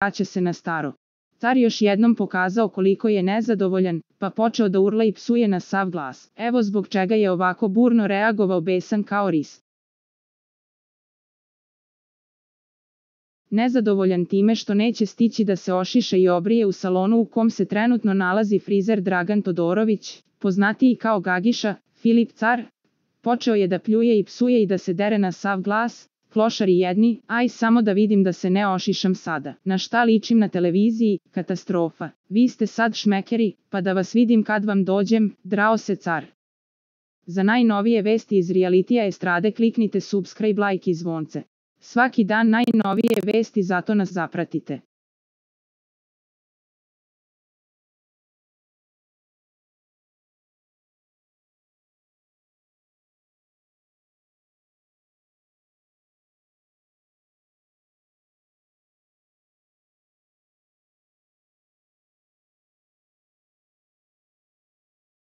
vraća se na staro. Car još jednom pokazao koliko je nezadovoljan, pa počeo da urla i psuje na sav glas. Evo zbog čega je ovako burno reagovao, besan kao ris. Nezadovoljan time što neće stići da se ošiša i obrije u salonu u kom se trenutno nalazi frizer Dragan Todorović, poznatiji kao Gagiša, Filip Car, počeo je da pljuje i psuje i da se dere na sav glas. Klošari jedni, aj samo da vidim da se ne ošišam sada. Na šta ličim na televiziji, katastrofa. Vi ste sad šmekeri, pa da vas vidim kad vam dođem, drao se Car. Za najnovije vesti iz realitija estrade kliknite subscribe, like i zvonce. Svaki dan najnovije vesti, zato nas zapratite.